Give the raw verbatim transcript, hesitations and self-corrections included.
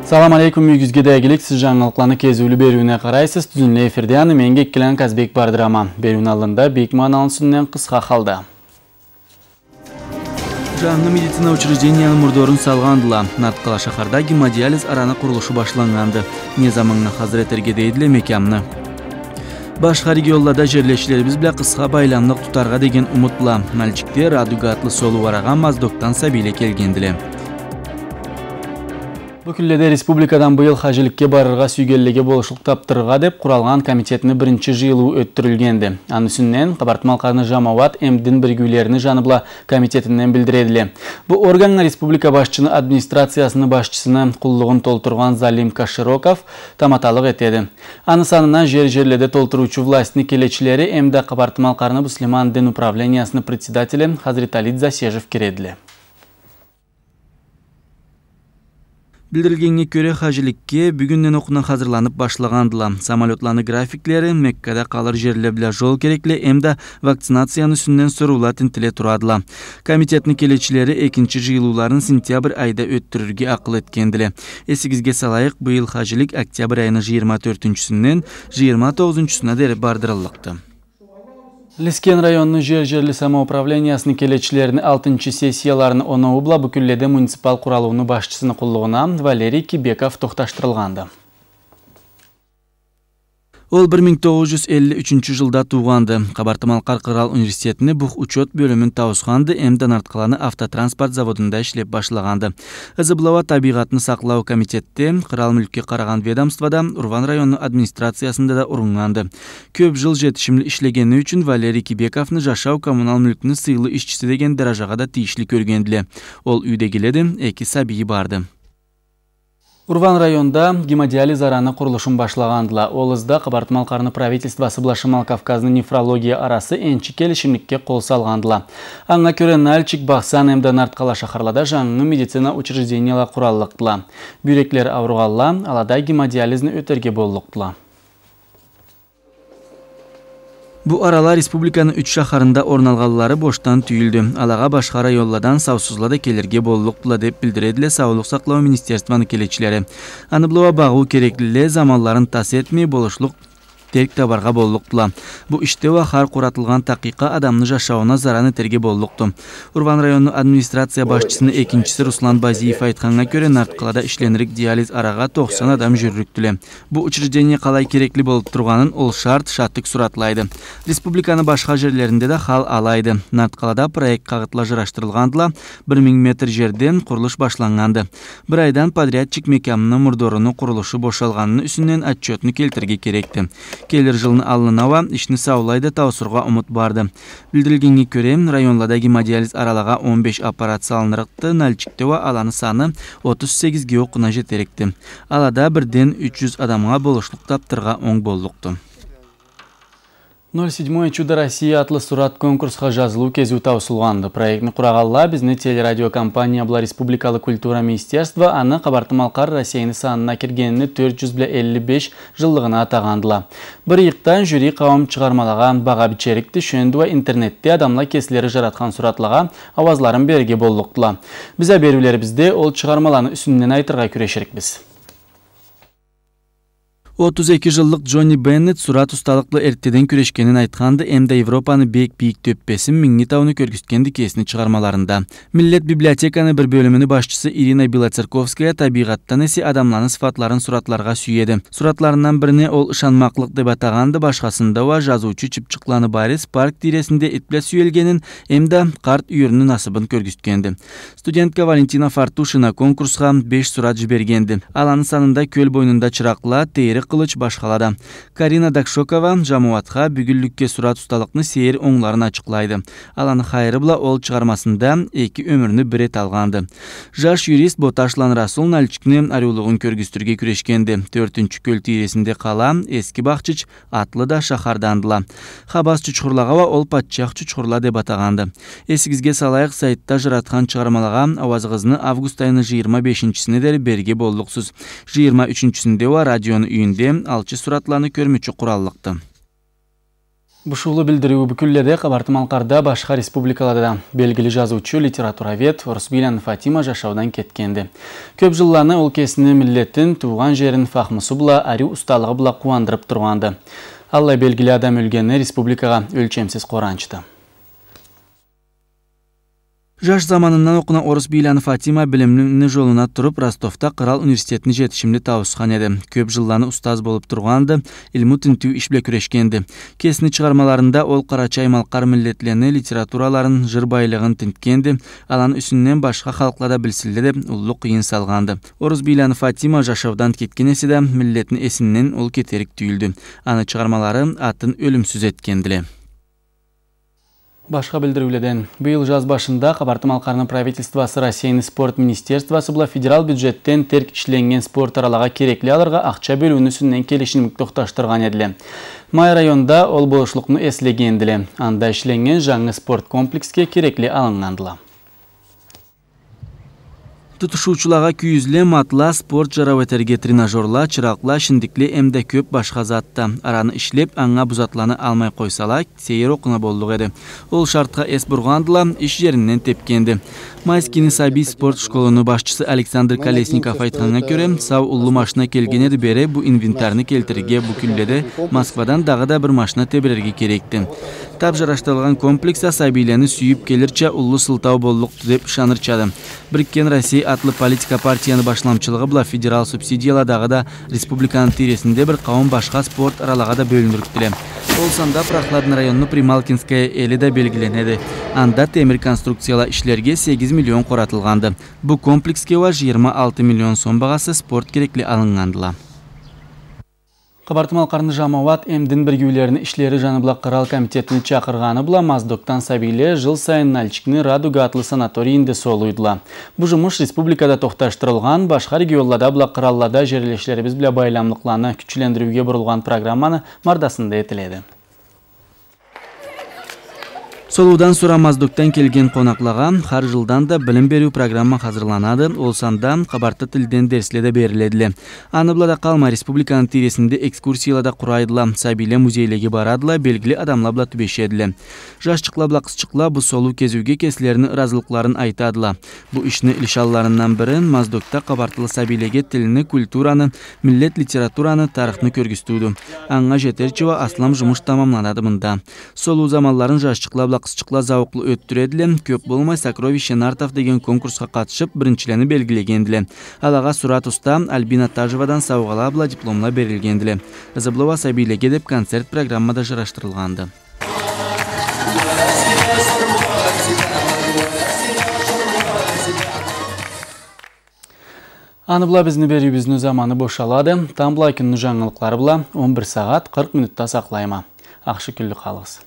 Салам алейкум, юйюгюзге да игилик, сиз жангылыкъланы кезиулю бериуюне къарайсыз. Тюзюнлей эфирде аны мен, Геккиланы Казбек, бардыраман. Бериуню аллында бек маналысын къысха халда. Жангы медицина учрежденияны мурдорун салгъандыла. Нарткъала шахарда гемодиализ араны къурулушу башланнганды. Не заманнга хазыр этерге дейдиле мекямны. Башха регионлада жерлешчилерибиз бла къысха байламлыкъ тутаргъа деген умут бла Нальчикде «Радуга» атлы солуу арагъа Моздокдан сабийле келгендиле. Бу кюнледе республикадан быйыл хажиликге барыргъа сюйгенлеге болушлукъ тапдырыргъа деп къуралгъан комитетни биринчи жыйылыуу ётдюрюлгенди. Аны юсюнден Къабарты-Малкъарны жамауат эм дин биргиулерини жаны бла комитетинден билдиредиле. Бу органнга республика башчыны администрациясыны башчысыны къуллугъун толтургъан Залим Кашироков таматалыкъ этеди. Аны санына жер-жерледе толтуруучу властьны келечилери эм да Къабарты-Малкъарны муслиман дин управлениясыны председатели Хазретали Дзасежев киредиле. Билдирилгеннге кёре, хажиликге бюгюнден окъуна хазырланып башлагъандыла. Самолётланы графиклери, Меккада къалыр жерле бла жол керекле эм да вакцинацияны юсюнден соруула тинтиле турадыла. Комитетни келечилери экинчи жыйылыуларын сентябрь айда ётдюрюрге акъыл этгендиле. Эсигизге салайыкъ, быйыл хажилик октябрь айыны жыйырма тёртюнчюсюнден жыйырма тогъузунчусуна дери бардырыллыкъды. Лискен районну жер-жерли самоуправлениясыны келечилерини алтынчы сессияларыны оноуу бла бу кюнледе муниципал къуралыуну башчысыны къуллугъуна Валерий Кибеков тохташдырылгъанды. Ол бир минг тогъуз жюз элли ючюнчю жылда туугъанды. Къабарты-Малкъар къырал университетини бухучёт бёлюмюн тауусханды эм да Нарткъаланы автотранспорт заводунда ишлеп башлагъанды. Ызы бла уа табийгъатны сакълау комитетде, къырал мюлкге къарагъан ведомствода, Урван районну администрациясында да уруннганды. Кёп жыл жетишимли ишлегени ючюн Валерий Кибековну жашау-коммунал мюлкню сыйлы ишчиси деген даражагъа да тийишли кёргендиле. Ол юйдегиледи, эки сабийи барды. Урван районда гемодиализ араны къурулушун башлагъандыла. Ол ызда Къабарты-Малкъарны правительствосы бла Шимал Кавказны нефрология арасы энчи келишимликге къол салгъандыла. Анга кёре, Нальчик, Бахсан эм да Нарткъала шахарлада жангы медицина учрежденияла къураллыкъдыла. Бюйреклери ауругъанла алада гемодиализни ётерге боллукъдула. Бу арала республиканы юч шахарында орун алгъанлары бошдан тюйюлдю. Алагъа башха районладан саусузла да келирге боллукъдула, деп билдиредиле саулукъ сакълау министерствону келечилери. Аны бла уа багъыу кереклиле заманларын тас этмей, болушлукъ терк табаргъа боллукъдула. Бу ишде уа хар къуратылгъан такъыйкъа адамны жашауна заран этерге боллукъду. Урван районну администрация башчысыны экинчиси Руслан Базиев айтханнга кёре, Нарткъалада ишленирлик диализ арагъа тохсан адам жюрюрюкдюле. Бу учреждение къалай керекли болуп тургъанын ол шарт шатык суратлайды. Республиканы башха жерлеринде да хал алайды. Нарткъалада проект къагъытла жарашдырылгъандыла, бир минг метр жерде къурулуш башланнганды. Бир айдан подрядчик мекямны мурдоруну къурулушу бошалгъаныны юсюнден отчётну келтирирге керекди. Келир жылны аллына уа ишни саулай да тауусургъа умут барды. Билдирилгеннге кёре, районлада гемодиализ аралагъа он беш аппарат салынырыкъды, Нальчикде уа аланы саны отуз сегизге окъуна жетерикди. Алада бирден юч жюз адамгъа болушлукъ тапдыргъа онг боллукъду. «Ноль седьмое чудо России» атлы сурат конкурсха жазылыу кезиу тауусулгъанды. Проектни къурагъанла бизни телерадиокомпания бла республикалы культура министерство, аны Къабарты-Малкъар Россейни санына киргенини тёрт жюз бла элли беш жыллыгъына атагъандыла. Бир ыйыкъдан жюри къауум чыгъармалагъа багъа бичерикди, шёндю уа интернетде адамла кеслери жаратхан суратлагъа ауазларын берирге боллукъдула. Биз а бериулерибизде ол чыгъармаланы юсюнден айтыргъа кюреширикбиз. Отуз эки жыллыкъ Джонни Беннет сурат усталыкъ бла эртдеден кюрешгенин айтханды, эмда Европаны бек бийик тёппесин, Минги тауну кёргюзтгенди кесини чыгъармаларында. Миллет библиотеканы бир бёлюмюню башчысы Ирина Белоцерковская табийгъатдан эсе адамланы сыфатларын суратларгъа сюеди. Суратларындан бирини ол ышанмакълыкъ деп атагъанды, башхасында уа жазыучу чыпчыкъланы Борис парк тийресинде ит бла сюелгенин эмда къарт юйюрню насыбын кёргюзтгенди. Студентка Валентина Фартушина конкурсха беш сурат жибергенди. Аланы санында кёл бойнунда чыракъла, тейри къылыч, башхала да. Карина Дакшокова жамауатха бюгюнлюкге сурат усталыкъны сейир онгларын ачыкълайды. Аланы хайыры бла ол чыгъармасында эки ёмюрню бир эталгъанды. Жаш юрист Боташланы Расул Нальчикни ариулугъун кёргюзтюрге кюрешгенди. Тёртюнчю кёл тийресинде къала, Эски Бахчыч, атлы да шахардандыла. Хабас чучхурлагъа уа ол патчах чучхурла деп атагъанды. Эсигизге салайыкъ, сайтда жаратхан чыгъармалагъа ауазыгъызны август айыны жыйырма бешинчисине дери берирге боллукъсуз. Жыйырма ючюнчюсюнде уа радиону юйюнде алчы суратланы кёрмючю къураллыкъды. Бушуулу билдириу бу кюнледе Къабарты-Малкъарда, башха республикалада да белгили жазыучу, литературовед Орусбийланы Фатима жашаудан кетгенди. Кёп жылланы ол кесини миллетин, туугъан жерин фахмусу бла, ариу усталыгъы бла къууандырып тургъанды. Аллай белгили адам ёлгени республикагъа ёлчемсиз къууанчды. Жаш заманындан окъуна Орусбийланы Фатима билимни жолуна туруп, Ростовда Кърал университетни жетишимли тауусхан эди. Кёп жылланы устаз болуп тургъанды, илму тинтиу иш бла кюрешгенди. Кесини чыгъармаларында ол къарачай-малкъар миллетлени литератураларын, жыр байлыгъын тинтгенди, аланы юсюнден башха халкъла да билсинле деп уллу къыйын салгъанды. Орусбийланы Фатима жашаудан кетген эсе да, миллетни эсинден ол кетерик тюйюлдю. Аны чыгъармалары атын ёлюмсюз этгендиле. Башха билдириуледен. Быйыл жаз башында Къабарты-Малкъарны правительствосы Россейни спорт министерствосы бла федерал бюджетден терк ишленнген спорт аралагъа керекли алыргъа ахча бёлюуню юсюнден келишимлик тохташдыргъан эдиле. Май районда ол болушлукъну эслегендиле. Анда ишленнген жангы спорт комплексге керекли алыннгандыла. Тутушуучулагъа кюйюзле, матла, спорт жарау этерге тренажёрла, чыракъла, шиндикле эмда кёп башха зат да. Араны ишлеп, анга бу затланы алмай къойсала, сейир окъуна боллукъ эди. Ол шартха эс бургъандыла, иш жеринден тепгенди. Майскийни сабий спорт школуну башчысы Александр Колесников айтханнга кёре, сау уллу машина келген эди бери, бу инвентарны келтирирге бу кюнледе Москвадан дагъыда бир машина тебирерге керекди. Тап жарашдырылгъан комплекс а сабийлени сюйюп келирча уллу сылтау боллукъду деп ышанырчады. Бирикген Россия атлы политика партияны башламчылыгъы бла федерал субсидияла дагъыда республиканы тийресинде бир къауум башха спорт аралагъа да бёлюнюрюкдюле. Ол санда Прохладный районну Прималкинская эли да белгиленеди. Анда темир конструкцияла ишлерге сегиз миллион къоратылгъанды. Бу комплексге уа жыйырма алты миллион сом багъасы спорт керекли алыннгандыла. Къабарты-Малкъарны жамауат эм дин биргиулерини ишлери жаны бла кърал комитетини чакъыргъаны бла Моздокдан сабийле жыл сайын Нальчикни «Радуга» атлы санаторийинде солууйдула. Бу жумуш республикада тохташдырылгъан, башха регионлада бла къраллада жерлешлерибиз бла байламлыкъланы кючлендириуге бурулгъан программаны мардасында этиледи. Солуудан сора Моздокдан келген къонакълагъа хар жылдан да билим бериу программа хазырланады, ол санда къабарты тилден дерсле да бериледиле. Аны бла да къалмай, республиканы тийресинде экскурсияла да къурайдыла, сабийле музейлеге барадыла, белгили адамла бла тюбешедиле. Жашчыкъла бла къызчыкъла бу солуу кезиуге кеслерини ыразылыкъларын айтадыла. Бу ишни лишанларындан бири Моздокда къабартылы сабийлеге тилни, культураны, миллет литератураны, тарыхны кёргюзтюудю. Анга жетерча уа аслам жумуш тамамланады мында. Солуу заманларын жашчыкъла бла къызчыкъла зауукълу ётдюредиле, кёп болмай «Сокровище нартов» деген конкурсха къатышып, биринчилени белгилегендиле. Алагъа Сурат уста, Альбина Тажевадан саугъала бла дипломла берилгендиле. Ызы бла уа сабийлеге деп концерт программа да жарашдырылгъанды. Аны бла бизни бериуюбюзню заманы бошалады. Тамбла кюнню жангылыкълары бла он бир сагъат къыркъ минутда сакълайма. Ахшы кюнлю къалыгъыз.